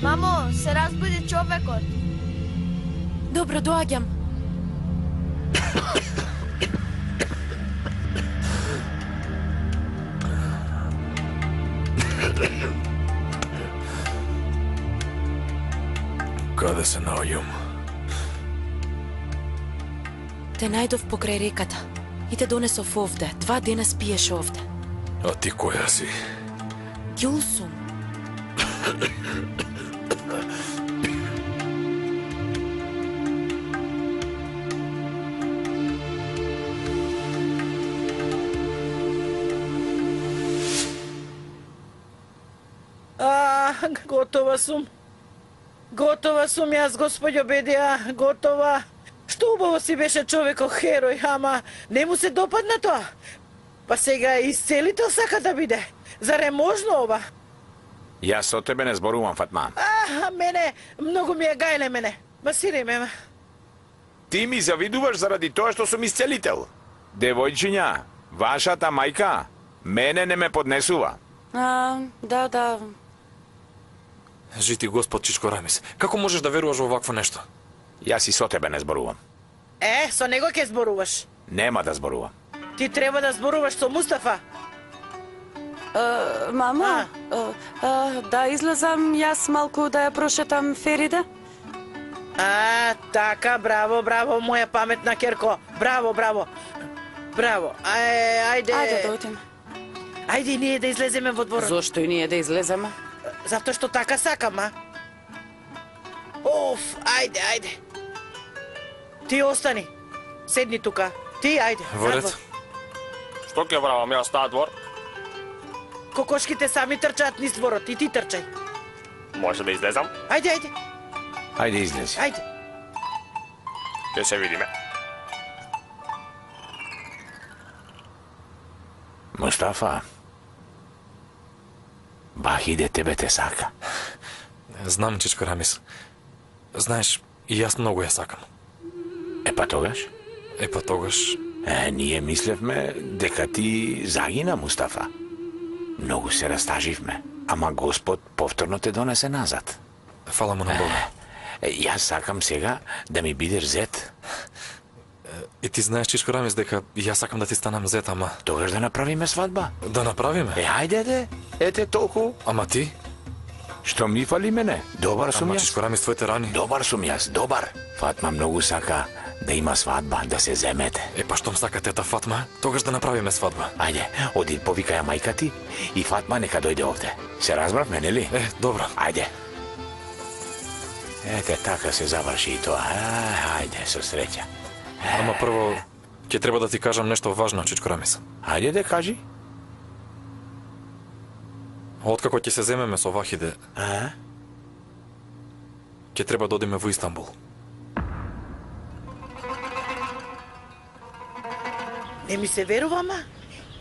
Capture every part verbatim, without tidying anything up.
Мамо, се разбуди човекот. Добро, доаѓам. Каде се наоѓам? Те најдов покрај реката и те донесов овде. Два дена спиеш овде. А ти која си? Ѓулсум. А, готова сум. Готова сум јас, господјо Бедија, готова. Што убаво си беше човекот херој, ама не му се допадна тоа. Па сега исцелител сака да биде. Зар е можно ова? Јас со тебе не зборувам, Фатма. А, мене, многу ми е гајле мене. Масирај ме. Ти ми завидуваш заради тоа што сум исцелител. Девојчиња, вашата мајка мене не ме поднесува. А, да, да. Жити Господ Чичко Рамис, како можеш да веруваш во вакво нешто? Јас и со тебе не зборувам. Е, со него ќе зборуваш. Нема да зборувам. Ти треба да зборуваш со Мустафа. А, мама, а, а, да излезам јас малку да ја прошетам Ферида? А, така, браво, браво, моја паметна керко. Браво, браво. Браво. Ај, ајде. Ајде да отиме. Ајде и ние да излеземе во дворот. Зошто и ние да излеземе? Затоа што така сакам, а? Оф, ајде, ајде. Ти остани. Седни тука. Ти, ајде. Во ред. Што ќе правам јас таа двор? Кокошките сами трчаат низ дворот и ти трчај. Може да излезам? Ајде, ајде. Ајде излези. Ајде. Ќе се видиме. Мустафа, Бахиде тебе те сака. Знам, Чичко Рамис. Знаеш, и јас многу ја сакам. Е па тогаш? Е па тогаш... Е, ние мислевме дека ти загина, Мустафа. Многу се растаживме, ама Господ повторно те донесе назад. Фала му на Бога. Е, јас сакам сега да ми бидеш зет. И ти знаеш, Чичко Рамис, дека јас сакам да ти станам зет, ама... Тогаш да направиме свадба. Да направиме? Е, ајде де, ете толку. Ама ти? Што ми фали мене? Добар сум Ама, јас. Чичко Рамис, твоите рани... Добар сум јас, добар. Фатма многу сака да има свадба, да се земете. Е, па штом сака тета Фатма, тогаш да направиме свадба. Ајде, оди повикаја мајка ти и Фатма нека дојде овде. Се разбравме, нели? Е, добро. Ајде. Ете, така се заврши и тоа. А, ајде, со среќа. Ама прво, ќе треба да ти кажам нешто важно, Чичко Рамис. Ајде да кажи. Откако ќе се земеме со Вахиде, А? ќе треба да одиме во Истанбул. Не ми се верува, ма?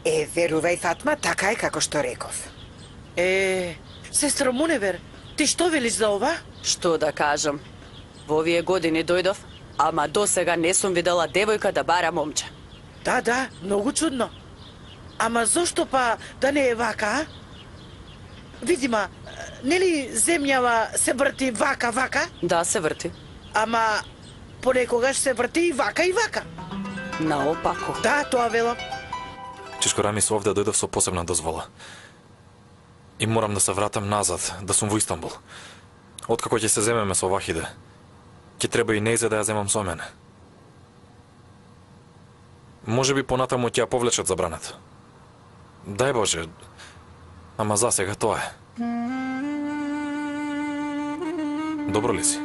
Е, верувај, Фатма, така е како што реков. Е, сестро Муневер, ти што велиш за ова? Што да кажам? Во овие години дојдов, ама до сега не сум видела девојка да бара момче. Да, да, многу чудно. Ама зошто па да не е вака, а? Видима, нели земјава се врти вака, вака? Да, се врти. Ама понекогаш се врти и вака и вака. Наопако. Да, тоа велам. Чичко Рамис, овде дојдов со посебна дозвола. И морам да се вратам назад, да сум во Истанбул. Откако ќе се земеме со Вахиде, ќе треба и нејзе да ја земам со мене. Може би понатаму ќе ја повлечат забраната. Дај Боже, ама за сега тоа е. Добро ли си?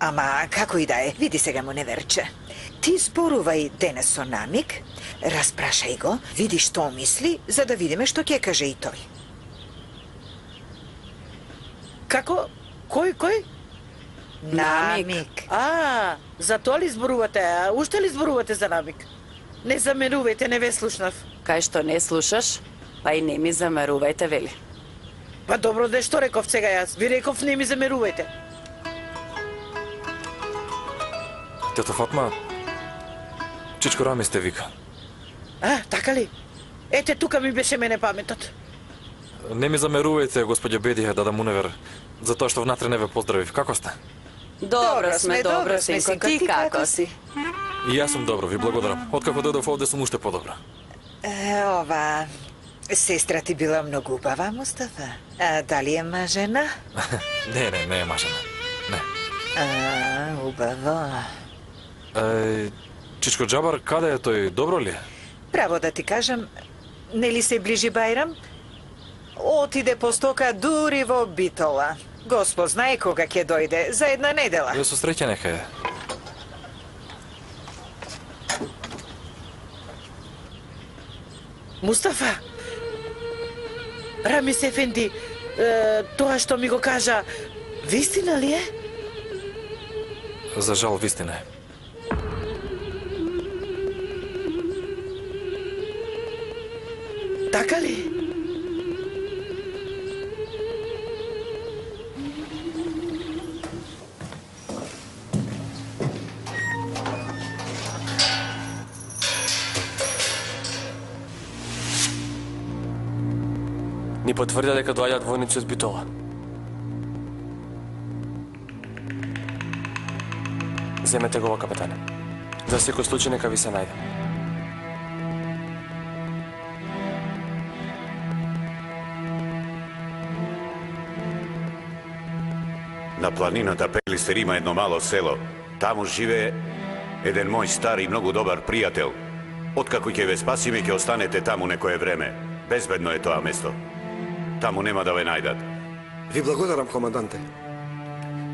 Ама, како и да е, види сега му неверче. Ти зборувај денес со Намик, распрашај го, види што мисли, за да видиме што ќе каже и тој. Како? Кој, кој? Намик. А, за тоа ли зборувате? А уште ли зборувате за Намик? Не замерувајте, не ве слушнав. Кај што не слушаш, па и не ми замерувајте, вели. Па добро, де што реков сега јас? Ви реков не ми замерувајте. Тето Фатма, Чичко Рамис те вика. А, така ли? Ете, тука ми беше мене паметот. Не ми замерувајте, господје Бедија, да да Муневер, за тоа што внатре не ве поздравив. Како сте? Добро сме, добро, синко. Ти како си? И јас сум добро, ви благодарам. Откако дојдов овде сум уште подобро. Е, ова... Сестра ти била многу убава, Мустафа. А дали е мажена? Не, не, не е мажена. Не. А, убаво. Е, Чичко Джабар, каде е тој? Добро ли е? Право да ти кажам, нели се ближи Бајрам? Отиде по стока дури во Битола. Господ знае кога ќе дојде, за една недела. Ја со среќа нека е. Мустафа, Рамис Ефенди, е, тоа што ми го кажа, вистина ли е? За жал, вистина е. Така ли? Ни потврдија дека доаѓаат војници од Битола. Земете го, капетане. За секој случај нека ви се најде. На планината Пелистер има едно мало село. Таму живее еден мој стар и многу добар пријател. Откако ќе ве спасиме, ќе останете таму некое време. Безбедно е тоа место. Таму нема да ве најдат. Ви благодарам, команданте.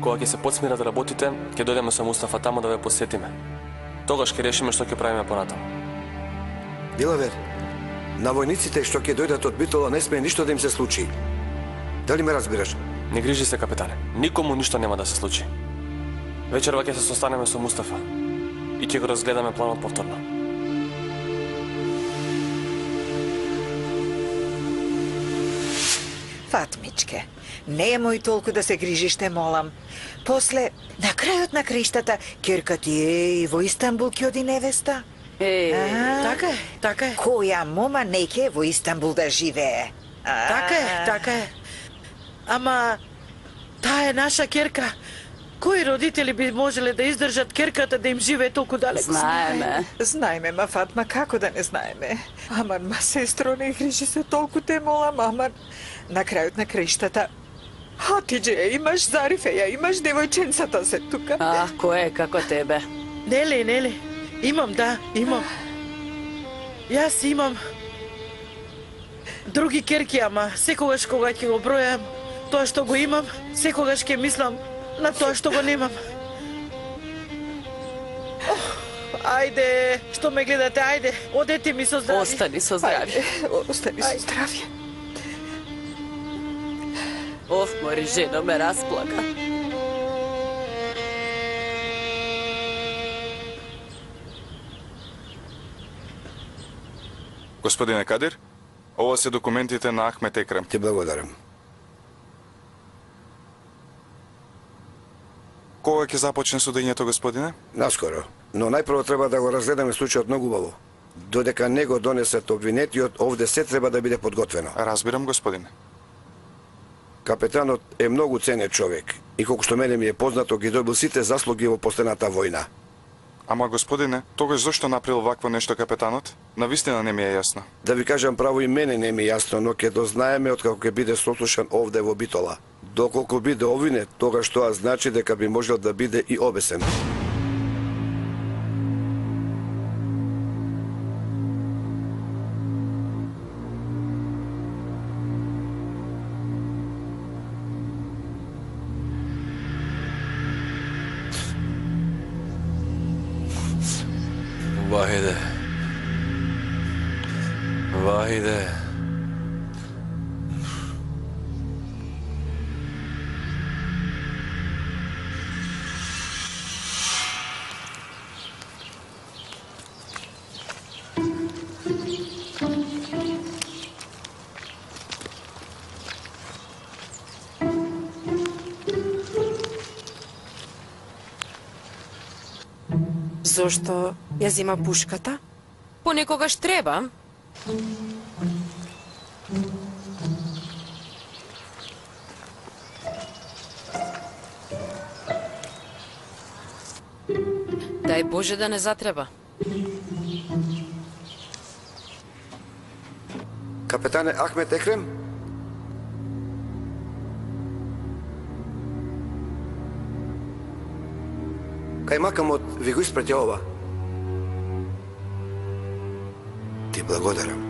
Кога ќе се подсмират работите, ќе дојдеме со Мустафа таму да ве посетиме. Тогаш ќе решиме што ќе правиме понатаму. Дилавер, на војниците што ќе дојдат од Битола не смее ништо да им се случи. Дали ме разбираш? Не грижи се, капетане. Никому ништо нема да се случи. Вечерва ќе се состанеме со Мустафа и ќе го разгледаме планот повторно. Фатмичке, не е мој толку да се грижиш, те молам. После, на крајот на краиштата, керка ти е и во Истанбул ќе оди невеста. Е, А, Така е, така е. која мома не ќе во Истанбул да живее? А, Така е, така е. Ама, таа е наша керка. Кои родители би можеле да издржат керката да им живее толку далеко? знаеме. Знаеме, ма Фатма, како да не знаеме? Аман, ма сестро, не грижи се толку, те молам, аман. На крајот на краиштата, Хатиџе ја имаш, Зарифе ја имаш, девојченцата се тука. А, кој е како тебе? Нели, нели. Имам, да, имам. Јас имам други керки, ама секогаш кога ќе го бројам тоа што го имам, секогаш ќе мислам на тоа што го немам. Ох, ајде, што ме гледате, ајде, одете ми со здравје. Остани со здравје. Ајде, остани со здравје. Оф, мори жено ме расплака. Господине Кадир, ова се документите на Ахмет Екрем. Ти благодарам. Кога ќе започне судењето, господине? Наскоро. Но најпрво треба да го разгледаме случајот многу убаво. Додека не го донесат обвинетиот, овде се треба да биде подготвено. Разбирам, господине. Капетанот е многу ценет човек и колку што мене ми е познато, ги добил сите заслуги во последната војна. Ама, господине, тогаш зошто направил вакво нешто капетанот? Навистина не ми е јасно. Да ви кажам право, и мене не ми е јасно, но ќе дознаеме откако ќе биде сослушан овде во Битола. Доколку биде обвинет, тогаш тоа значи дека би можел да биде и обесен. Вахиде. Вахиде. Зошто ја зема пушката? понекогаш треба. Дај Боже да не затреба. Капетане Ахмет Екрем? Кај макамот ви го испрати ова. Ти благодарам.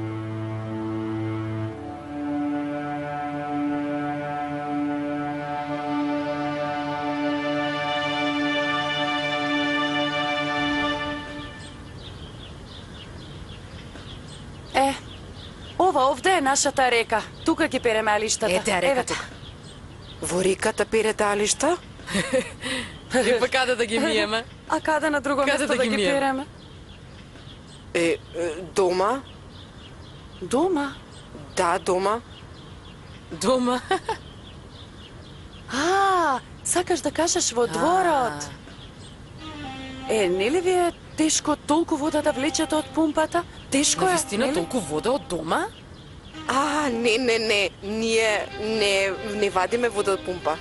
Е, ова овде е нашата река. Тука ги переме алиштата. Ете ја река тука. Во реката перете алишта? И па каде да ги миеме? А каде на друго Каде место да да ги ги миеме? переме? Е, е, дома? Дома? Да, дома. Дома? А, сакаш да кажеш во дворот? Е, нели ви е тешко толку вода да влечете од пумпата? Тешко е, Навистина нели? толку вода од дома? А, не, не, не. Ние не, не вадиме вода од пумпа.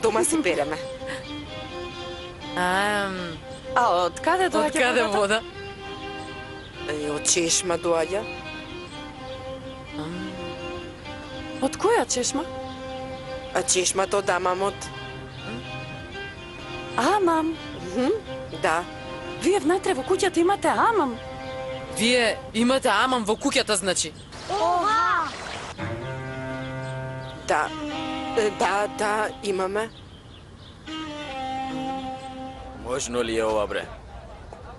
Дома си переме. Ам, А од каде од доаѓа каде водата? вода? Е, од чешма доаѓа. Од која чешма? А чешмата од амамот. Амам. Мгм, да. Вие внатре во куќата имате амам. Вие имате амам во куќата, значи. Да. Е, да, да, имаме. Можно ли е ова, бре?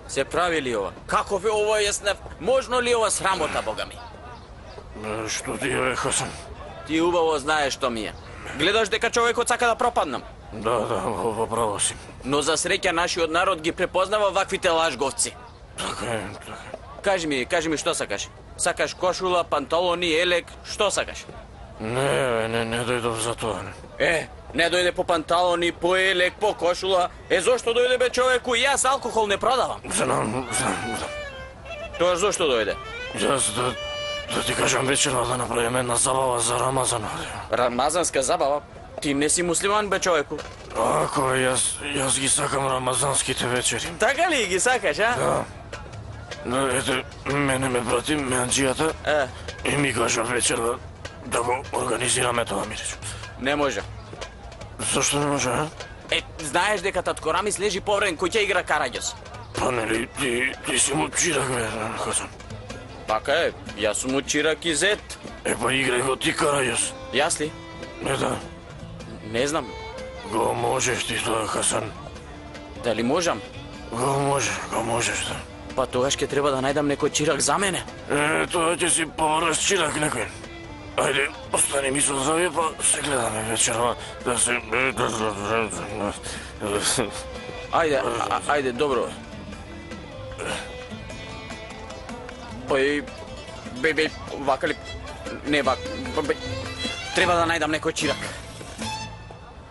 Се прави ли ова? Како ве ова јеснев? Можно ли ова срамота, бога ми? Што ти е, Хасан? Ти убаво знаеш што ми е. Гледаш дека човекот сака да пропаднам. Да, да, во право си. Но за среќа нашиот народ ги препознава ваквите лажговци. Така е, така. Кажи ми, кажи ми што сакаш? Сакаш кошула, панталони, елек, што сакаш? Не, не, не дојдов за тоа. Е, не дојде по панталони, по елек, по кошула. Е, зошто дојде бе човеку? Јас алкохол не продавам. Знам, знам, знам. Тоа зошто дојде? Јас да, да ти кажам вечерва да направиме една забава за Рамазан. Рамазанска забава? Ти не си муслиман бе човеку. Ако јас, јас ги сакам рамазанските вечери. Така ли ги сакаш, а? Да. Но ете, мене ме прати меанџијата Е. и ми кажа вечерва да го организираме тоа, Мирич. Не може. Зошто не може, а? Е, знаеш дека татко Рамис лежи повреден кој ќе игра Караѓос. Па нели, ти, ти си му чирак, бе, Хасан. Така е, јас сум му чирак и зет. Е, па играј го ти Караѓос. Јас ли? Не, да. Не знам. Го можеш ти тоа, Хасан. Дали можам? Го можеш, го можеш, да. Па тогаш ќе треба да најдам некој чирак за мене. Е, тоа ќе си повраз чирак некој. Ајде, остани ми со завие, па се гледаме вечерва да се... Ајде, а, ајде, добро. Ој, бе, бе, вака ли? Не вака, бе, треба да најдам некој чирак.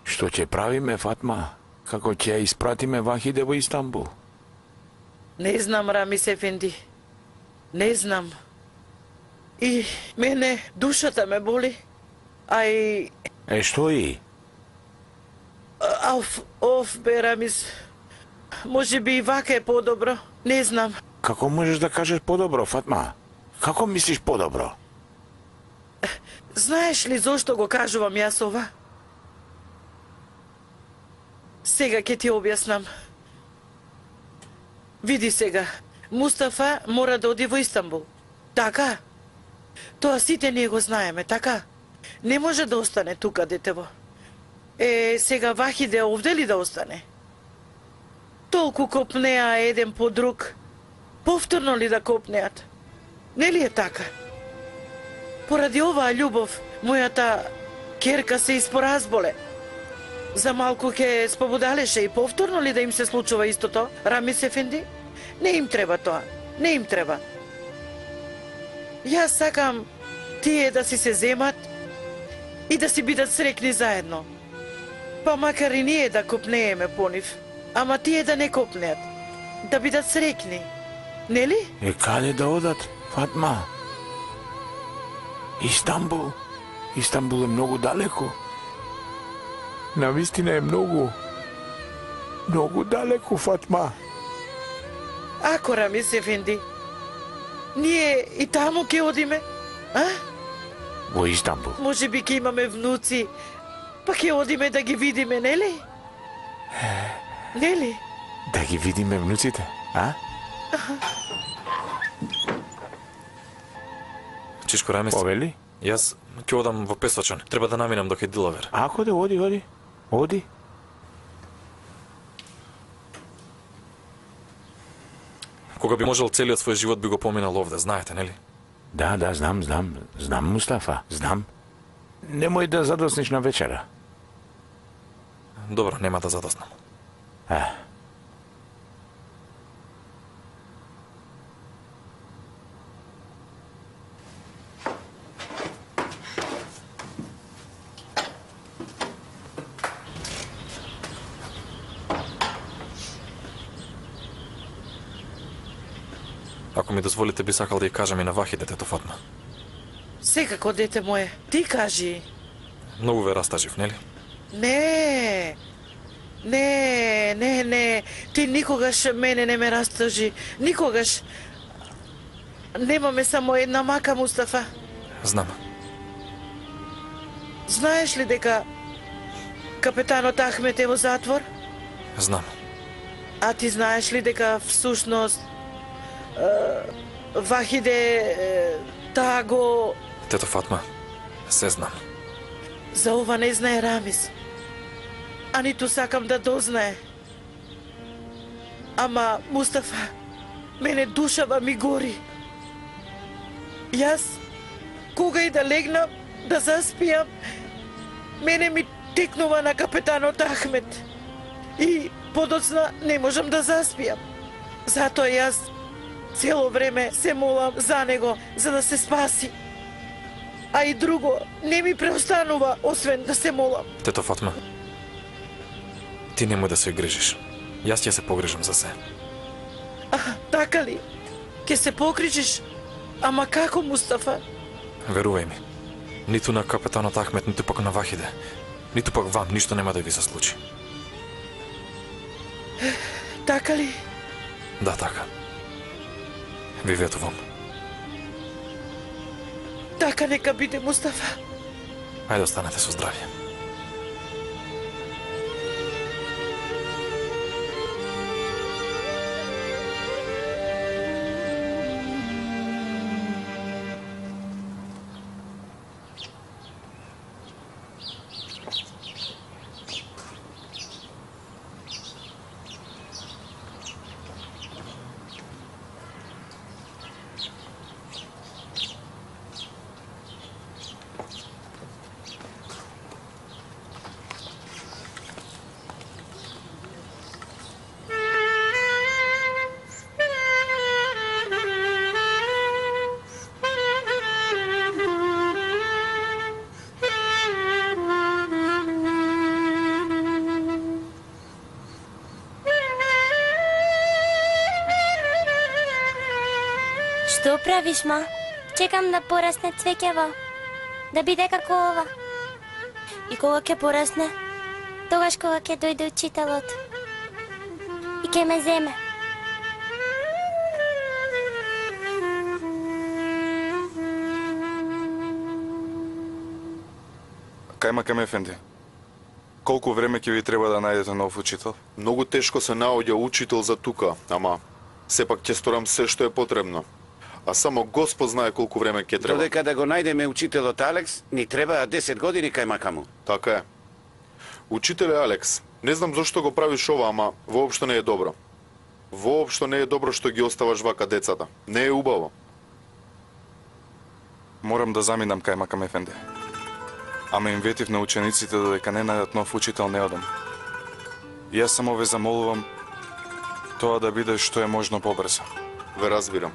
Што ќе правиме, Фатма? Како ќе ја испратиме Вахиде во Истанбул? Не знам, Рамис Ефенди. Не знам. И мене душата ме боли. А и... Е, што и? Оф, оф, бе, Рамис. Може би и вака е подобро. Не знам. Како можеш да кажеш подобро, Фатма? Како мислиш подобро? Знаеш ли зошто го кажувам јас ова? Сега ќе ти објаснам. Види сега, Мустафа мора да оди во Истанбул. Така? Тоа сите ние го знаеме, така? Не може да остане тука, детево. Е, сега Вахиде овде ли да остане? Толку копнеа еден по друг. Повторно ли да копнеат? Нели е така? Поради оваа љубов, мојата керка се испоразболе. За малку ќе спобудалеше и повторно ли да им се случува истото, Рамис Ефенди? Не им треба тоа, не им треба. Јас сакам тие да си се земат и да си бидат срекни заедно. Па макар и ние да копнееме по нив, ама тие да не копнеат, да бидат срекни. Нели? Е, каде да одат, Фатма? Истанбул. Истанбул е многу далеко. Навистина е многу. Многу далеко, Фатма. Ако Рамис Ефенди, ние и таму ќе одиме, а? Во Истанбул. Може би ќе имаме внуци, па ќе одиме да ги видиме, нели? Нели? Да ги видиме внуците, а? Чичко Рамис, Повели? јас ќе одам во Песочан. Треба да наминам до кај Дилавер. Ако да оди, оди. Оди. Кога би можел целиот свој живот би го поминал овде, знаете, нели? Да, да, знам, знам. Знам, Мустафа, знам. Немој да задосниш на вечера. Добро, нема да задоснам. А. Ако ми дозволите, би сакал да ја кажам и на Вахиде, тето Фатма. Секако, дете мое, ти кажи. Многу ве растажив, нели? Не, не, не, не, ти никогаш мене не ме растажи, никогаш. Немаме само една мака, Мустафа. Знам. Знаеш ли дека капетанот Ахмет е во затвор? Знам. А ти знаеш ли дека всушност Вахиде таа го... Тето Фатма, се знам. За ова не знае Рамис. А ниту сакам да дознае. Ама, Мустафа, мене душава ми гори. Јас, кога и да легнам, да заспијам, мене ми текнува на капетанот Ахмет. И подоцна не можам да заспијам. Затоа јас цело време се молам за него, за да се спаси. А и друго, не ми преостанува, освен да се молам. Тето Фатма, ти немој да се грижиш. Јас ќе се погрижам за се. А, така ли? Ке се покрижиш? Ама како, Мустафа? Верувај ми, ниту на капетанот Ахмет, ниту пак на Вахиде, ниту пак вам, ништо нема да ви се случи. Така ли? Да, така. Ви ветувам. Така нека биде, Мустафа. Ајде, останете со здравје. Што правиш, ма? Чекам да порасне цвеќево, да биде како ова. И кога ќе порасне, тогаш кога ќе дојде учителот и ќе ме земе. Кајмакам Ефенди, колку време ќе ви треба да најдете нов учител? Многу тешко се наоѓа учител за тука, ама сепак ќе сторам се што е потребно. А само Господ знае колку време ќе треба. Додека да го најдеме учителот Алекс, ни требаа десет години кај макаму. Така е. Учителе Алекс, не знам зошто го правиш ова, ама воопшто не е добро. Воопшто не е добро што ги оставаш вака децата. Не е убаво. Морам да заминам кај Макам Ефенди. Ама им ветив на учениците додека не најдат нов учител не одам. Јас само ве замолувам тоа да биде што е можно побрзо. Ве разбирам.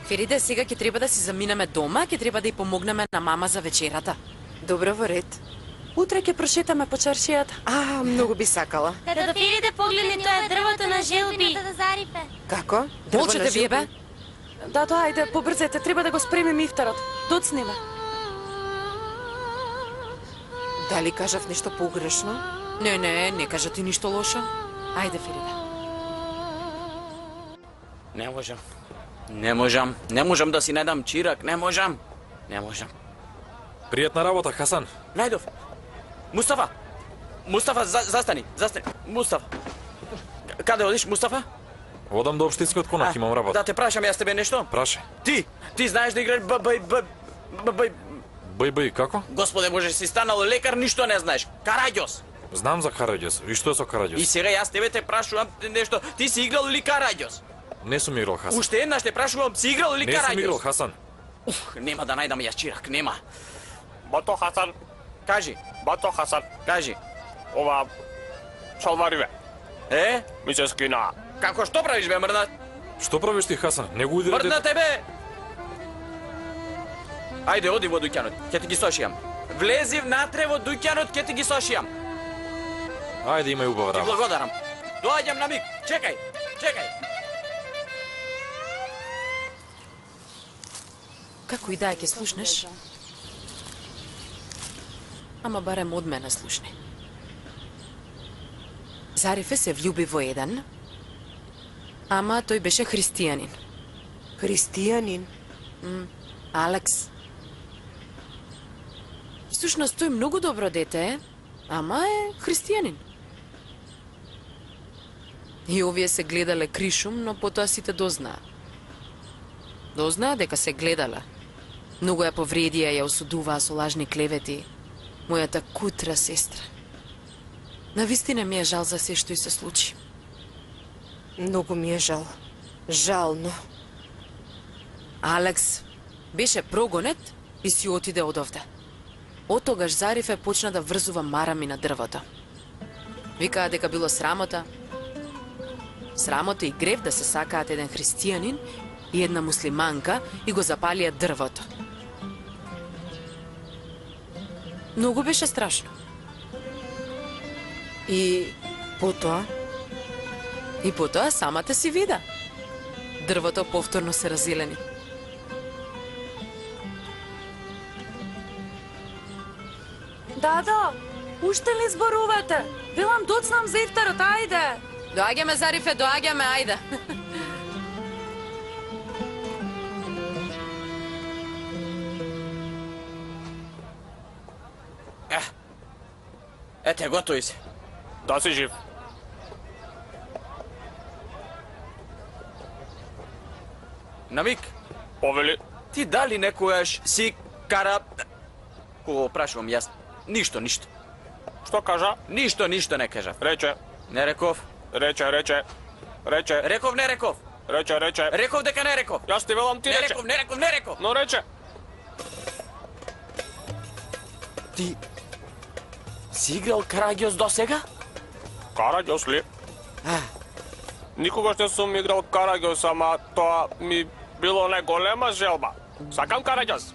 Фериде, сега ќе треба да си заминеме дома, ќе треба да ја помогнеме на мама за вечерата. Добро, во ред. Утре ќе прошетаме по чаршијата. А, многу би сакала. Када Фериде погледне тоа дрвото на желби. Да зарифе. Како? Молчете вие, бе. Да, тоа, ајде, побрзете, треба да го спремим ифтарот. Доцни ме. Дали кажав нешто погрешно? Не, не, не кажа ти ништо лошо. Ајде, Фериде. Не можам. Не можам. Не можам да си најдам чирак. Не можам. Не можам. Пријатна работа, Хасан. Најдов. Мустафа. Мустафа, за, застани. Застани. Мустафа. Каде одиш, Мустафа? Одам до општинскиот конак, имам работа. Да те прашам јас тебе нешто? Прашај. Ти, ти знаеш да играеш б б б б б Бај, бај, како? Господе Боже, си станал лекар, ништо не знаеш. Караѓос. Знам за Караѓос. И што е со Караѓос? И сега јас тебе те прашувам нешто. Ти си играл ли Караѓос? Не сум играл, Хасан. Уште еднаш те прашувам, си играл ли Караѓос? Не сум играл, Хасан. Ух, нема да најдам јас чирак, нема. Бато Хасан, Кажи, бато Хасан, кажи. ова шалвариве. Е? Ми се скина. Како што правиш бе, мрдна? Што правиш ти, Хасан? Не го удири Мрдна дете. тебе! Ајде, оди во дуќанот, ќе ти ги сошијам. Влези внатре во дуќанот, ќе ти ги сошијам. Ајде, имај убава Ти работа. благодарам. Доаѓам на миг. Чекај, чекај. Како и да ќе слушнеш? Ама барем од мене слушни. Зарифе се влюби во еден, ама тој беше христијанин. Христијанин? М, Алекс. Всушност тој многу добро дете е, ама е христијанин. И овие се гледале кришум, но потоа сите дознаа. Дознаа дека се гледале. Многу ја повредија, ја осудуваа со лажни клевети. Мојата кутра сестра. Навистина ми е жал за се што и се случи. Многу ми е жал. Жално. Алекс беше прогонет и си отиде од овде. Од тогаш Зарифе почна да врзува марами на дрвото. Викаа дека било срамота. Срамота и грев да се сакаат еден христијанин и една муслиманка и го запалија дрвото. Многу беше страшно. И потоа? И потоа самата си вида. Дрвото повторно се разелени. Дадо, уште ли зборувате? Велам доцнам за ифтарот, ајде. Доаѓаме, Зарифе, доаѓаме, ајде. Е, ете, готови се. Да си жив. На миг. Повели. Ти дали некојаш си кара... Кога прашувам јас, ништо, ништо. Што кажа? Ништо, ништо не кажав. Рече. Не реков. Рече, рече. Рече. Реков, не реков. Рече, рече. Реков дека не реков. Јас ти велам ти не рече. реков, не реков, не реков. Но рече. Ти си играл Караѓос до сега? Караѓос ли? А. Никогаш не сум играл Караѓос, ама тоа ми било најголема желба. Сакам Караѓос.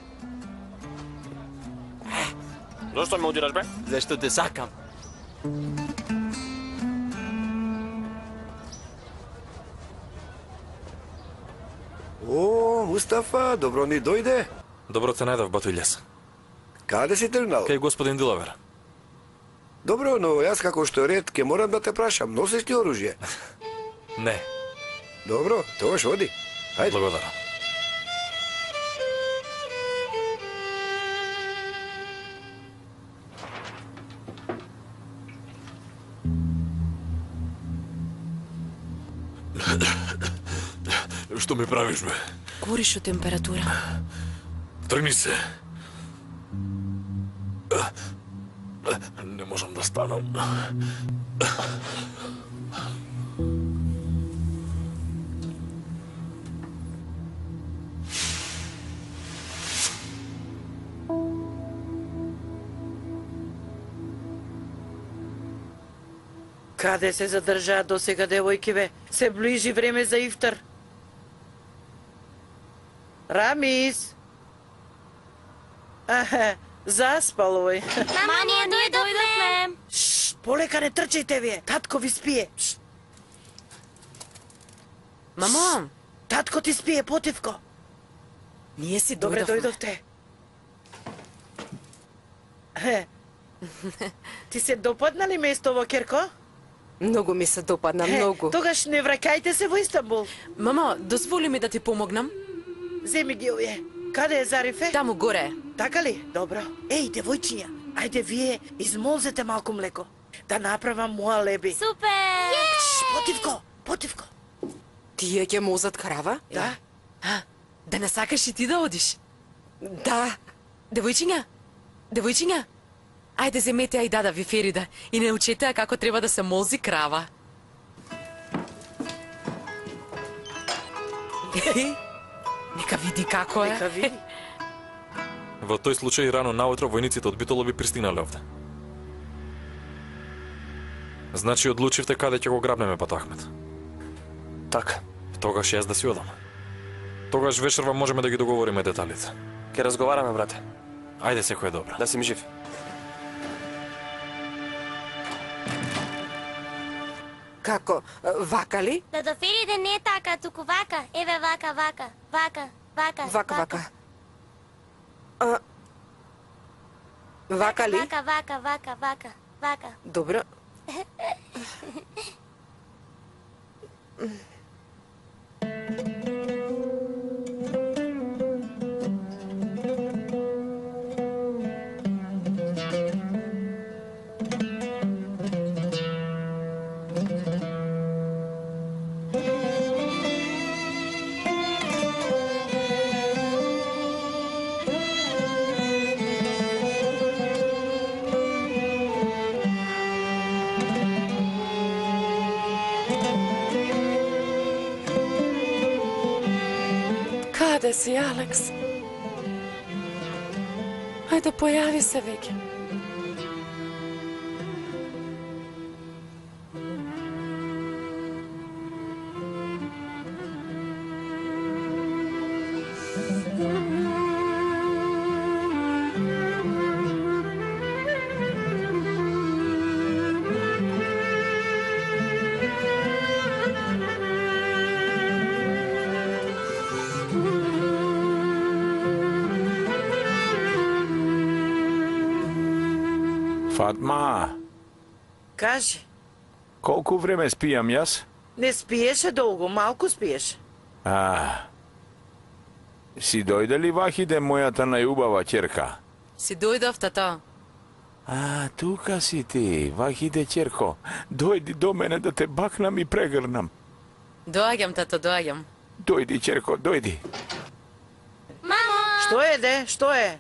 Зошто ме удираш, бе? Зашто те сакам. О, Мустафа, добро ни дојде. Добро те најдов, бато Илјас. Каде си тргнал? Кај господин Дилавер. Добро, но јас како што е ред, ке морам да те прашам, носиш ли оружје? Не. Добро, тогаш оди. Ајде. Благодарам. Што ми правиш, бе? Гориш од температура. Тргни се. Не можам да станам. Каде се задржаа до сега девојки, бе? Се ближи време за ифтар. Рамис! Аха, Заспал овој. Мама, ние дојдовме. Шш, полека не трчајте вие. Татко ви спие. Шш. Мамо, татко ти спие, Потивко. Ние си Добре дојдовме. дојдовте. Е, ти се допадна ли местово, Керко? Многу ми се допадна, Е, многу. Тогаш не враќајте се во Истанбул. Мамо, дозволи ми да ти помогнам? Земи ги овие. Каде е Зарифе? Таму горе. Така ли? Добро. Еј, девојчиња, ајде вие измолзете малку млеко. Да направам моја леби. Супер! Шш, Потивко, Потивко. Тие ќе мозат крава? Да. А, да не сакаш и ти да одиш? Да. Девојчиња, девојчиња, ајде земете ја и дада ви Ферида и не учете ја како треба да се молзи крава. Нека види како е. Нека види. Во тој случај рано наутро војниците од Битола би пристигнале овде. Значи одлучивте каде ќе го грабнеме Патахмет. Така. Тогаш јас да си одам. Тогаш вечерва можеме да ги договориме деталите. Ке разговараме, брате. Ајде, секој е добро. Да си ми жив. Како? Вака ли? Да до Фериде не е така, туку вака. Еве вака, вака, вака, вака. Вака, вака. А... Вака ли? Вака, вака, вака, вака, вака. Добро. Каде си, Алекс? Ајде, појави се веќе. Фатма, Кажи, колку време спијам јас? не спиеше долго, малку спиеше. А, си дојде ли Вахиде, мојата најубава ќерка? Си дојдов, тато. А, тука си ти, Вахиде ќерко. Дојди до мене да те бакнам и прегрнам. Доаѓам, тато, доаѓам. Дојди, ќерко, дојди. Мамо! Што е, де? Што е?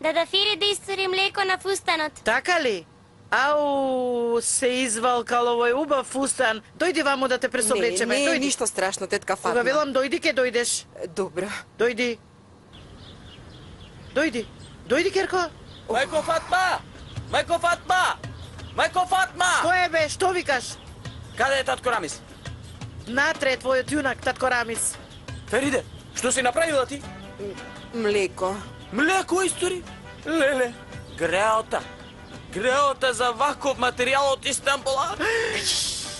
Да да Фериде истори млеко на фустанот. Така ли? Ау, се извалкал овој убав фустан. Дојди ваму да те пресоблечеме. Не, не, дојди. ништо страшно, тетка Фатма. Кога велам дојди, ке дојдеш. Добро. Дојди. Дојди. Дојди, Керко. Мајко Фатма! Мајко Фатма! Мајко Фатма! Кој е бе? Што викаш? Каде е татко Рамис? Натре е твојот јунак, татко Рамис. Фериде, што си направила ти? Млеко. Млеко истори? Леле, греота. Греота за ваков материјал од Истанбула.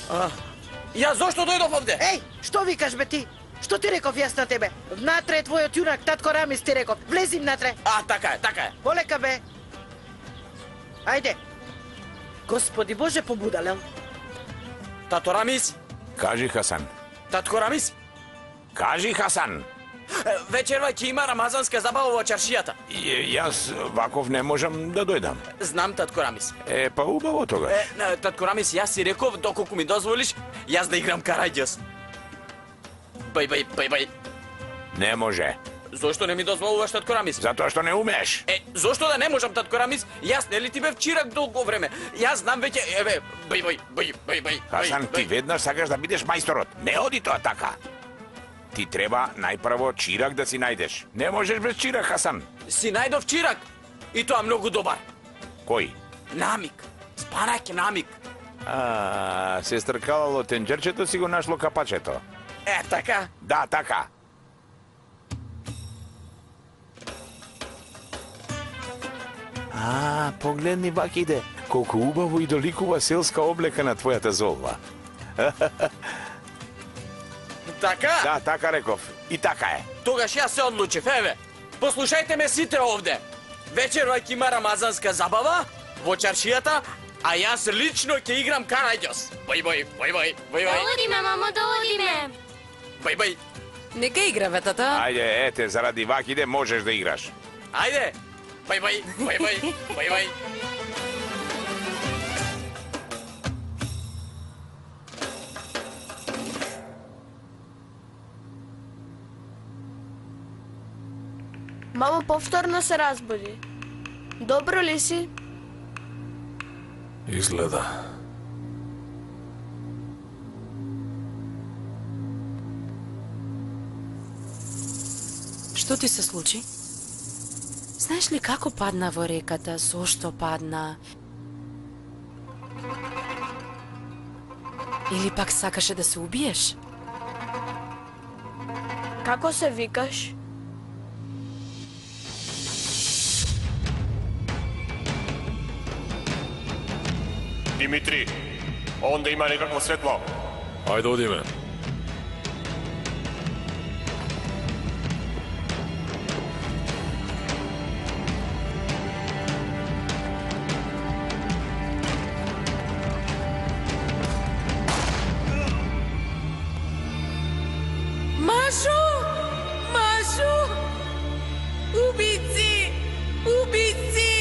А, ја зошто дојдов овде? Еј, што викаш бе ти? Што ти реков јас на тебе? Внатре е твојот јунак, татко Рамис ти реков. Влези внатре. А, така е, така е. Полека бе. Ајде. Господи Боже, побудалел. Тато Рамис? Кажи, Хасан. Татко Рамис? Кажи, Хасан. Вечерва ќе има рамазанска забава во чаршијата. Ј- Јас ваков не можам да дојдам. Знам, татко Рамис. Е, па убаво тогаш. Е, на, татко Рамис, јас си реков, доколку ми дозволиш, јас да играм караѓас. Бај, бај, бај, бај. Не може. Зошто не ми дозволуваш, татко Рамис? Затоа што не умееш. Е, зошто да не можам, татко Рамис? Јас нели ти бев чирак долго време. Јас знам веќе, еве, бај, бај, бај, бај, бај. Хасан, бај, ти бај. веднаш сакаш да бидеш мајсторот. Не оди тоа така. Ти треба најпрво чирак да си најдеш. Не можеш без чирак, Хасан. Си најдов чирак. И тоа многу добар. Кој? Намик. Спанаќ намик. А, се стркалало тенџерчето, си го нашло капачето. Е, така? Да, така. А, погледни Вакиде, колку убаво и доликува селска облека на твојата золва. Така? Да, така реков. И така е. Тогаш јас се одлучив, еве. Послушајте ме сите овде. Вечерва ќе има рамазанска забава во чаршијата, а јас лично ќе играм караѓос. Бој, бој, бој, бој, бој, Да бој. одиме, мамо, да одиме. Бој, бој. Нека играве, тата. Ајде, ете, заради Вакиде можеш да играш. Ајде. Бој, бој, бој, бој, бој, бој. Мамо повторно се разбуди. Добро ли си? Изгледа. Што ти се случи? Знаеш ли како падна во реката, зошто падна? Или пак сакаше да се убиеш? Како се викаш? Димитри, онде има некакво светло. Ајде одиме. Машо! Машо! Убици! Убици!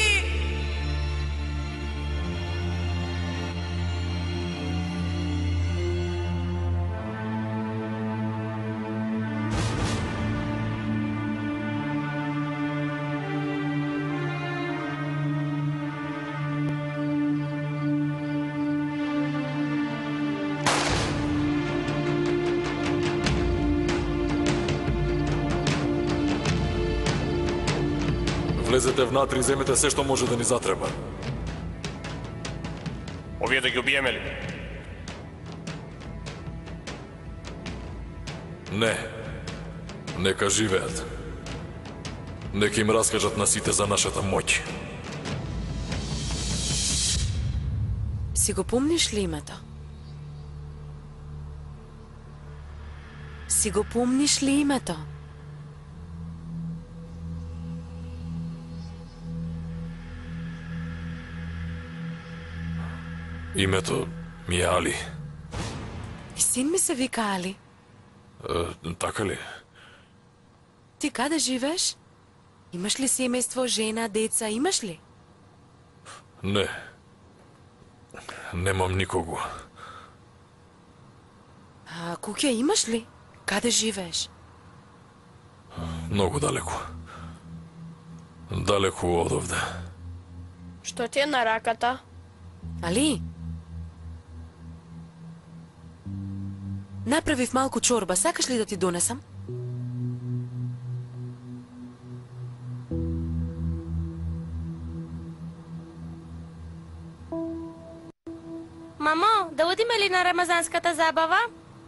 Влезете внатре и земете се што може да ни затреба. Овие да ги убиеме ли? Не. Нека живеат. Нека им раскажат на сите за нашата моќ. Си го помниш ли името? Си го помниш ли името? Името ми е Али. И син ми се вика Али. Е, така ли? Ти каде живееш? Имаш ли семејство, жена, деца, имаш ли? Не. Немам никого. А куќа имаш ли? Каде живееш? Многу далеку. Далеку од овде. Што ти е на раката? Али? Направив малку чорба, сакаш ли да ти донесам? Мамо, да одиме ли на рамазанската забава?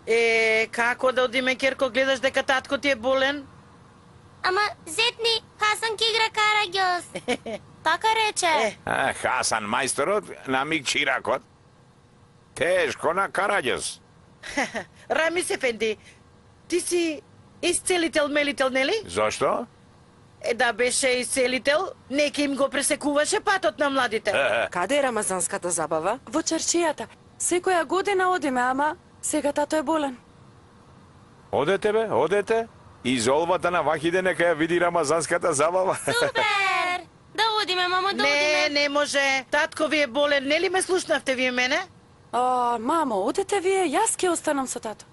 Е, како да одиме, Керко, гледаш дека татко ти е болен? Ама, зетни, Хасан ки игра караѓос. Така рече. А, Хасан мајсторот на миг чиракот. Тешко на караѓос. Рамис Ефенди, ти си исцелител мелител, нели? Зошто? Е, да беше исцелител, нека им го пресекуваше патот на младите. Каде е рамазанската забава? Во чаршијата. Секоја година одиме, ама сега тато е болен. Одете бе, одете. Изолвата на Вахиде нека ја види рамазанската забава. Супер! Да одиме, мамо, да Не, одиме. не може. Татко ви е болен, нели ме слушнавте вие мене? А, мамо, одете вие, јас ќе останам со тато.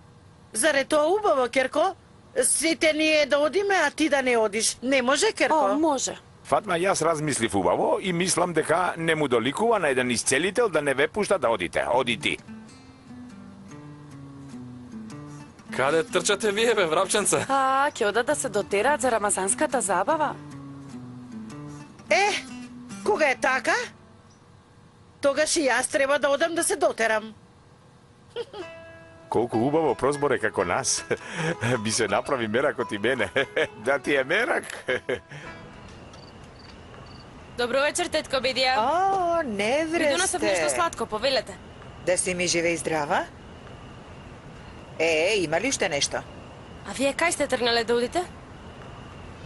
Заре тоа убаво, Керко? Сите ние да одиме, а ти да не одиш. Не може, Керко? О, може. Фатма, јас размислив убаво и мислам дека не му доликува на еден исцелител да не ве пушта да одите. Оди ти. Каде трчате вие, бе, врапченца? А, ќе одат да се дотераат за рамазанската забава? Е, кога е така? Тогаш и јас треба да одам да се дотерам. Колку убаво прозборе како нас. Би се направи меракот и мене. Да ти е мерак. Добро вечер, тетко Бедија. О, не Ви донесов нешто вресте. сладко, повелете. Да си ми живе и здрава? Е, има ли уште нешто? А вие кај сте тргнале да одите?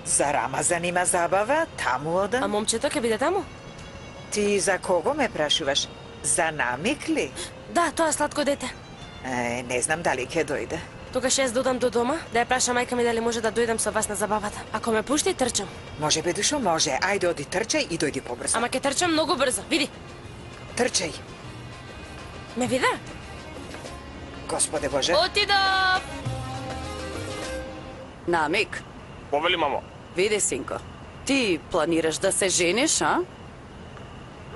За Рамазан има забава, таму одам. А момчето ќе биде таму? Ти за кого ме прашуваш? За Намик ли? Да, тоа сладко дете. Е, не знам дали ќе дојде. Тогаш јас додам до дома, да ја праша мајка ми дали може да дојдам со вас на забавата. Ако ме пушти, трчам. Може бе, душо, може. Ајде, оди трчај и дојди побрзо. Ама ќе трчам многу брзо, види. Трчај. Ме вида? Господе Боже. Отидов! Намик, Повели, мамо. види, синко. Ти планираш да се жениш, а?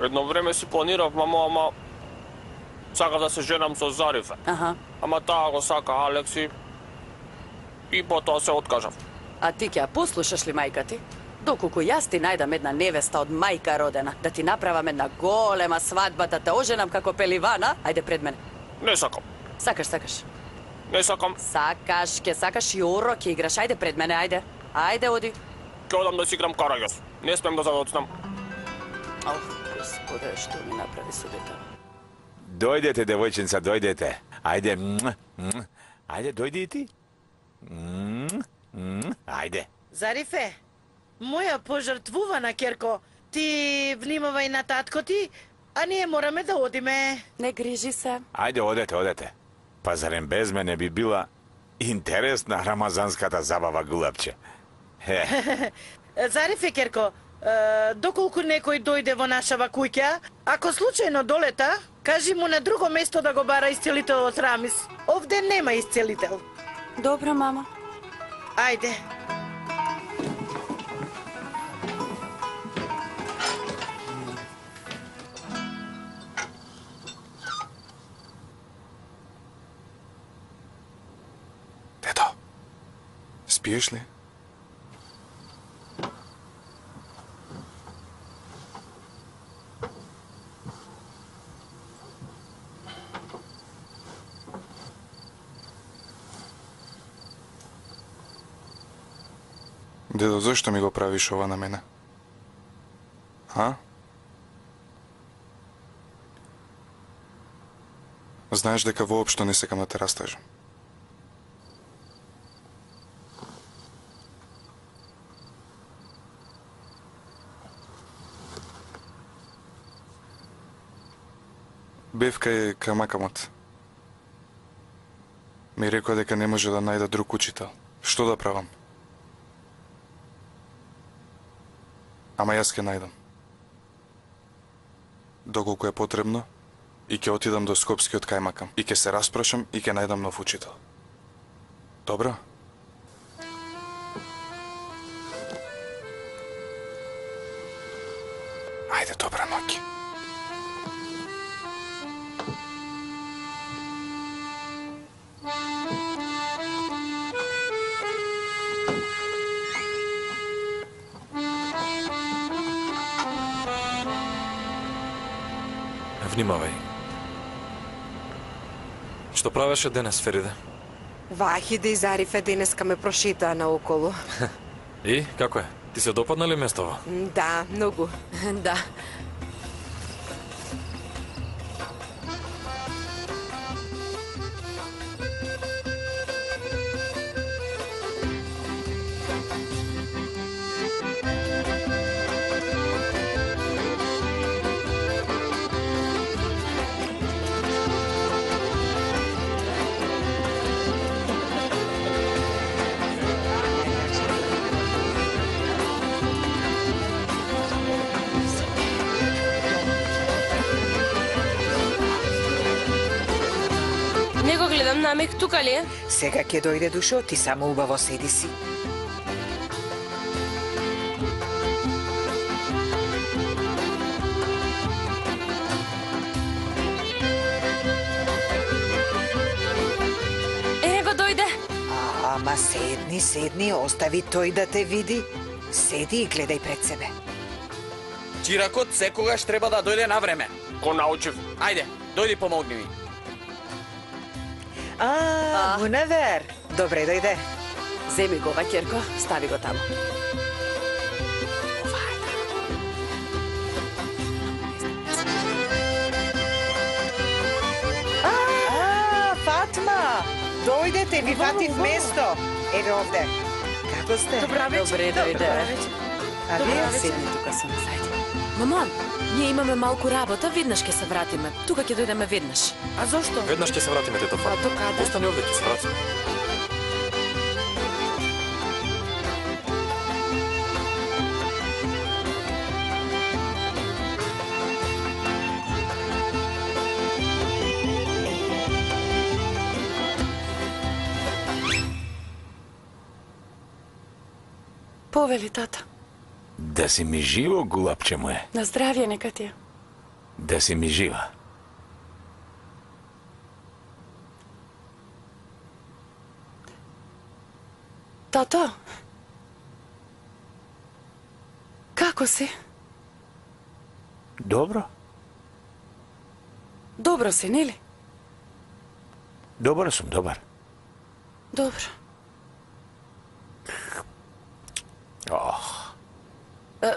Едно време си планирав, мамо, ама... Сакав да се женам со Зарифе. Аха. Ама таа го сака Алекси. И потоа се откажав. А ти ќе ја послушаш ли мајка ти? Доколку јас ти најдам една невеста од мајка родена, да ти направам една голема свадба, да те оженам како пеливана, ајде пред мене. Не сакам. Сакаш, сакаш. Не сакам. Сакаш, ќе сакаш и оро, ќе играш, ајде пред мене, ајде. Ајде, оди. Ќе одам да си играм караѓос. Не смем да задоцнам. Ох, господе, што ми направи со дете? Дојдете, девојченца, дојдете. Ајде, муа, муа. Ајде, дојди и ти. Муа, муа. Ајде. Зарифе, моја пожртвувана керко, ти внимавај на татко ти, а ние мораме да одиме. Не грижи се. Ајде, одете, одете. Па зарем без мене би била интересна рамазанската забава, гулапче. Хе. Зарифе, керко, е, доколку некој дојде во нашава куќа, ако случајно долета, кажи му на друго место да го бара исцелителот Рамис. Овде нема исцелител. Добро, мама. Ајде. Дедо, спиеш ли? Дедо, зашто ми го правиш ова на мене? А? Знаеш дека воопшто не сакам да те растажам. Бев кај камакамот. Ми рекоа дека не може да најда друг учител. Што да правам? Ама јас ќе најдам. Доколку е потребно, и ќе отидам до Скопскиот кајмакам. И ќе се распрашам и ќе најдам нов учител. Добро? Ајде, добра ноќ. Внимавај. Што правеше денес, Фериде? Вахиде и Зарифе денеска ме прошетаа наоколу. И, како е? Ти се допадна ли местово? Да, многу. Да. Не го гледам, Намик, тука ли е? Сега ќе дојде, душо, ти само убаво седи си. Ене го дојде. Ама седни, седни, остави тој да те види. Седи и гледај пред себе. Чиракот секогаш треба да дојде на време. Го научив. Ајде, дојди помогни ми. А, Мунавер, добре дојде. Земи го ова, Керко, стави го таму. Дојдете, ви фатив место. Еве овде. Како сте? Добре дојде. А вие седни тука со нас, ајде. Мамон, ние имаме малку работа, веднаш ќе се вратиме. Тука ќе дојдеме веднаш. А зошто? Веднаш ќе се вратиме, тето Фати. А до каде? Остани овде, ќе се вратиме. Повели, тата. Да си ми живо, гулапче моje. На здравје нека ти е. Да си ми жива. Тато. Како си? Добро? Добро си, нели? Добар сум, добар. Добро. Ох. А,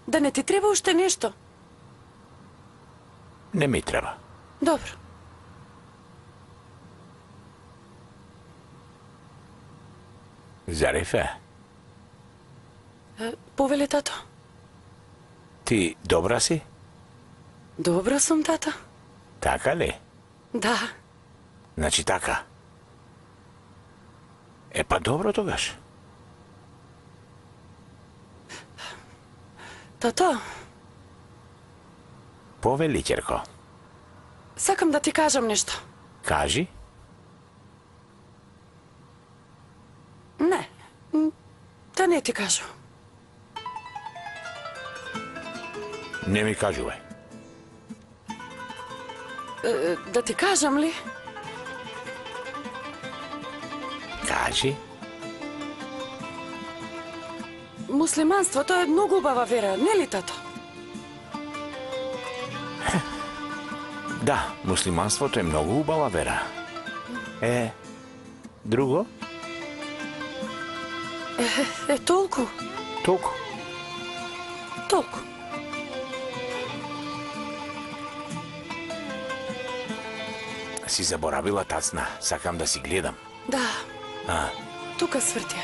да не ти треба уште нешто? Не ми треба. Добро. Зарифе, А, повели, тато. ти добра си? Добро сум, тата. Така ли? Да. Значи така. Е па добро тогаш. Тато, Повели, ќерко. сакам да ти кажам нешто. Кажи. Не, м, да не ти кажу. Не ми кажувај. Е, да ти кажам ли? Кажи. Муслиманството е многу убава вера, нели, тато? Да, муслиманството е многу убава вера. Е, друго? Е, е толку, Толку. толку. Си заборавила, тацна. Сакам да си гледам. Да, А, тука свртја.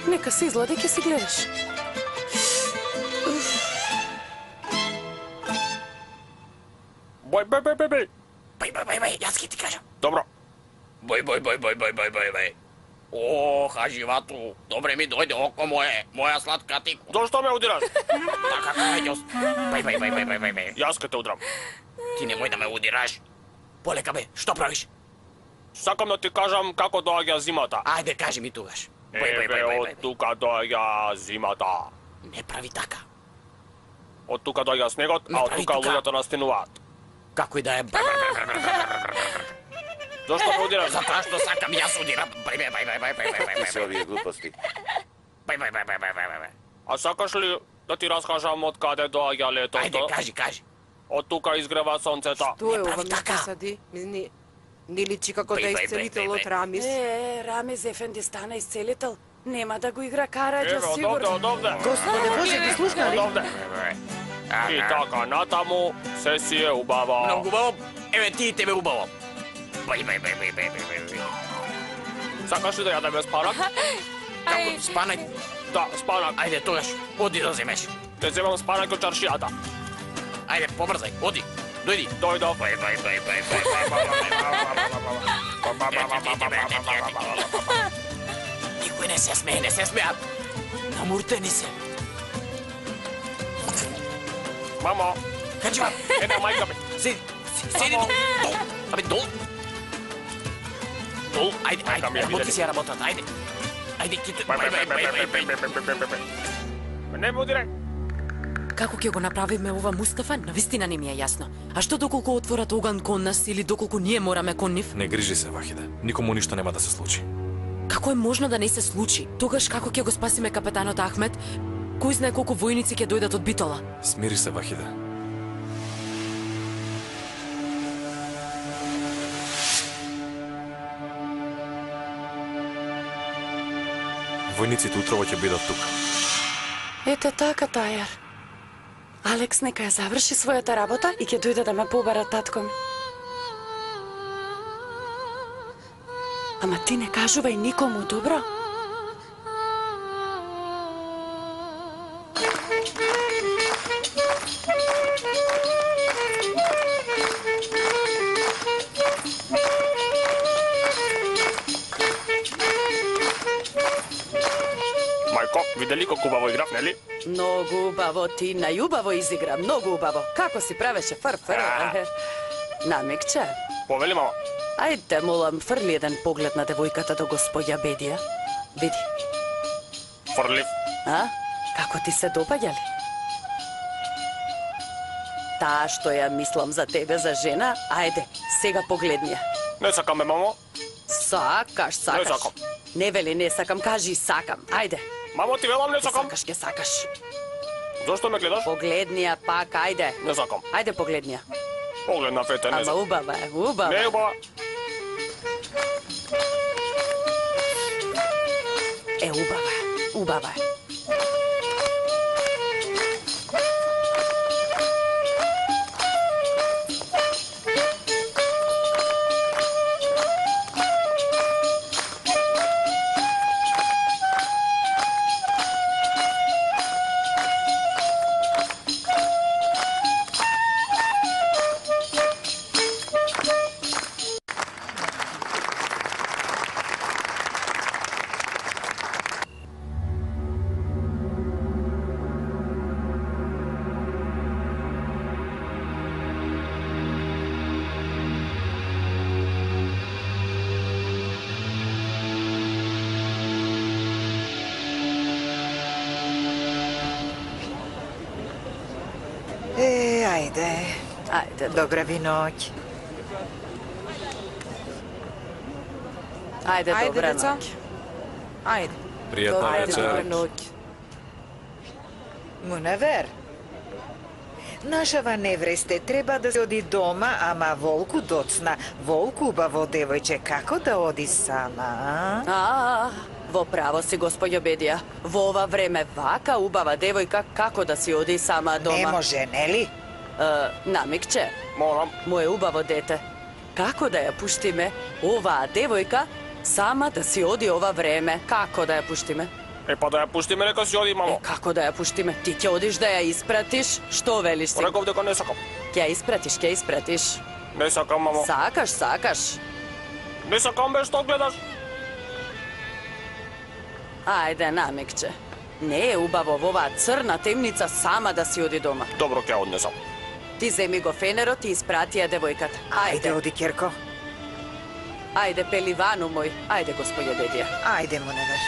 Нека се излади, ќе си гледаш. Бој, бој, бој, бој, бој. Бај, бај, бај, бај, јас ќе ти кажам. Добро. Бој, бој, бој, бој, бој, бој, бој, бој. О, хаживату, добре ми дојде око моје, моја сладка тику. Зошто ме удираш? Така, кајдјос. Бај, бај, бај, бај, бај, бај, бај. Јас ке те удрам. Ти немој да ме удираш. Полека бе, што правиш? Сакам да ти кажам како доаѓа зимата. Ајде, кажи ми тугаш. Бај, бај, Еве, бај, бај, од бај. тука доаѓа зимата. Не прави така. Од тука доаѓа снегот, Не а од прави тука тука. луѓето настинуваат. Како и да е. Бај, бај, бај, бај, бај, бај, бај, бај. Зошто ме удираш? Затоа што сакам јас удирам. Бај, бај, бај, бај, бај, бај, бај, бај. Се овие глупости. Бај, бај, бај, бај, бај, бај, бај. А сакаш ли да ти раскажам од каде доаѓа летото? Ајде, кажи, кажи. Од тука изгрева сонцето. Тоа е ова прави така. место сади. Не, не личи како Бај, да е бај, бај, исцелител бај, од бај. Рамис. Е, Рамез Ефенди стана исцелител. Нема да го игра Караѓа, Еве, од овде, сигурно. од овде. Господе Боже, ги слушнали? Од овде. И така натаму, се си е убаво. Многу убаво. Еве ти и тебе убаво. Бај, бај, бај, бај, бај, бај, бај. Сакаш ли да јадеме спанак? Како спанак? Да, спанак. Ајде, тогаш, оди да земеш. Те земам спанак од чаршијата. Ајде, побрзај, оди. Дојди. Дојдов. Бај, бај, бај, бај, бај, бај. Никој не се смее, не се смеат. Намуртени се. Мамо, Хаджива, една мајка ми. седи, седи долу. Долу. Абе, долу. Долу, ајде, Мајка ми ајде, ја работи видели. си ја работата, ајде. Ајде, ки... Бај, Бај, бај, бај, бај, бај, бај, бај. Не ме удирај. Како ќе го направиме ова, Мустафа, навистина не ми е јасно. А што доколку отворат оган кон нас или доколку ние мораме кон нив? Не грижи се, Вахиде. Никому ништо нема да се случи. Како е можно да не се случи? Тогаш како ќе го спасиме капетанот Ахмет? Кој знае колку војници ќе дојдат од Битола? Смири се, Вахиде. Војниците утрово ќе бидат тука. Ете така, Тајар. Алекс нека ја заврши својата работа и ќе дојде да ме побара татко ми. Ама ти не кажувај никому, добро? Мајко, видели колку убаво играв, нели? Многу убаво, ти најубаво изигра, многу убаво. Како си правеше фр-фр? Намикче. Повели, мама. Ајде, молам, фрли еден поглед на девојката до господја Бедија. Види. Фрлив. А? Како ти се допаѓа ли? Таа што ја мислам за тебе, за жена, ајде, сега погледни ја. Не сакам, бе, мамо. Сакаш, сакаш. Не сакам. Не вели не сакам, кажи сакам. Ајде. Мамо, ти велам не сакам. Сакаш, ке сакаш. Зошто ме гледаш? Погледни ја пак, ајде. Не сакам. Ајде погледни ја. Погледна фете, не Ама сакам. убава е, убава. Не е убава. Е, убава е, убава е. Е, ајде. Ајде. Добра ви ноќ. Ајде, Ајде, добра деца. ноќ. Ајде. Пријатна Ајде, вечер. добра ноќ. Мунавер. Нашава невресте треба да се оди дома, ама Волку доцна. Волку, убаво девојче, како да оди сама, а? А, во право си, господјо Бедија. Во ова време вака убава девојка како да си оди сама дома. Не може, нели? Е, намикче. Морам. Моje убаво дете. Како да ја пуштиме оваа девојка сама да си оди ова време? Како да ја пуштиме? Е, па да ја пуштиме, нека си оди, мамо. Е, како да ја пуштиме? Ти ќе одиш да ја испратиш? Што велиш си? Реков дека не сакам. Ќе ја испратиш, ќе ја испратиш. Не сакам, мамо. Сакаш, сакаш. Не сакам, бе, што гледаш? Ајде, намикче. Не е убаво во оваа црна темница сама да си оди дома. Добро, ќе однесам. Ти земи го фенерот и испрати ја девојката. Ајде, оди, Керко. Ајде, пеливану мој. Ајде, господје Бедија. Ајде, Мунавер.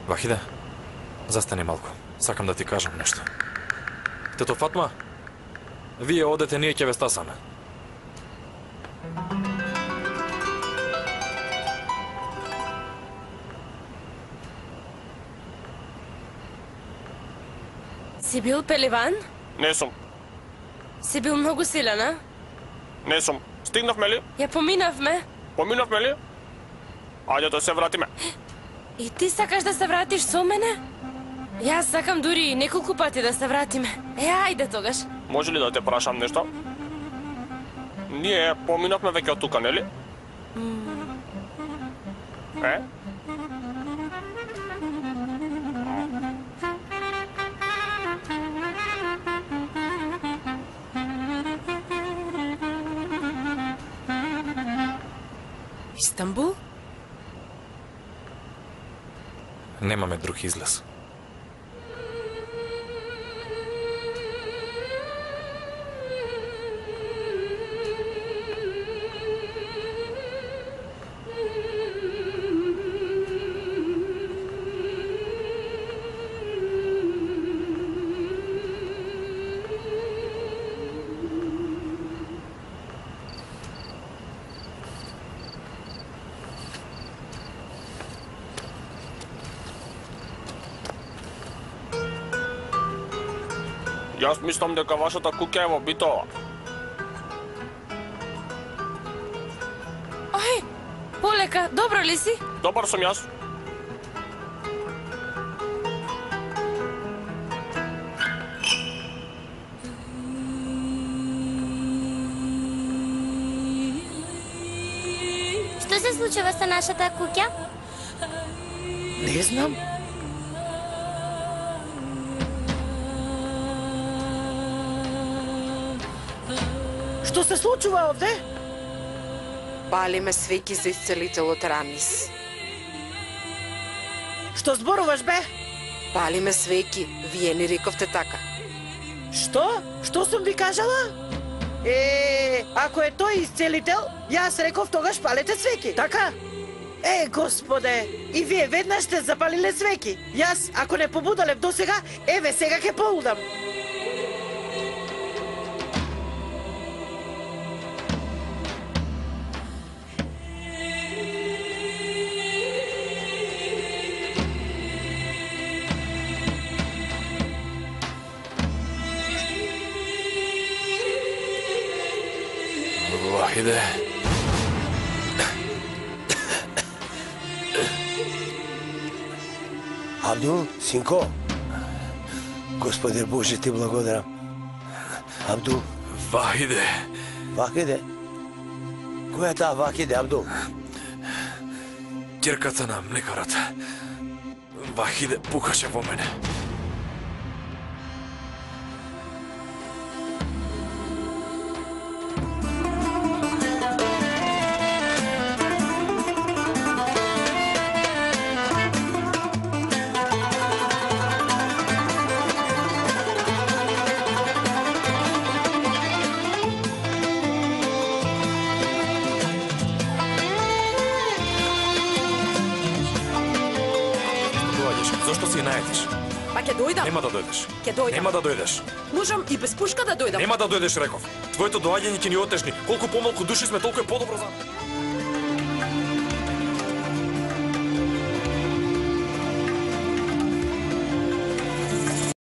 Вахиде, застани малку. Сакам да ти кажам нешто. Тето Фатма, вие одете, ние ќе ве стасаме. Си бил пеливан? Не сум. Си бил многу силен, а? Не сум. Стигнавме ли? Ја поминавме. Поминавме ли? Ајде да се вратиме. И ти сакаш да се вратиш со мене? Јас сакам дури и неколку пати да се вратиме. Е, ајде тогаш. Може ли да те прашам нешто? Ние поминавме веќе од тука, нели? Е? Истанбул? Немаме друг излез. Јас мислам дека вашата куќа е во Битола. Ај, полека, добро ли си? Добар сум јас. Што се случува со нашата куќа? Не знам. Што се случува овде? Палиме свеќи за исцелителот Рамис. Што зборуваш, бе? Палиме свеќи, вие ни рековте така. Што? Што сум ви кажала? Е, ако е тој исцелител, јас реков тогаш палете свеќи, така? Е, господе, и вие веднаш сте запалиле свеќи. Јас, ако не побудалев до сега, еве сега ќе полудам. Вахиде. Абдул, синко, Господи Боже, ти благодарам. Абдул. Вахиде. Вахиде? Која е таа Вахиде, Абдул? Ќерката на млекарот. Вахиде пукаше во мене. Зошто си најдеш? Па ќе дојдам. Нема да дојдеш. Ќе дојдам. Нема да дојдеш. Можам и без пушка да дојдам. Нема да дојдеш, реков. Твоето доаѓање ќе ни отежни. Колку помалку души сме, толку е подобро за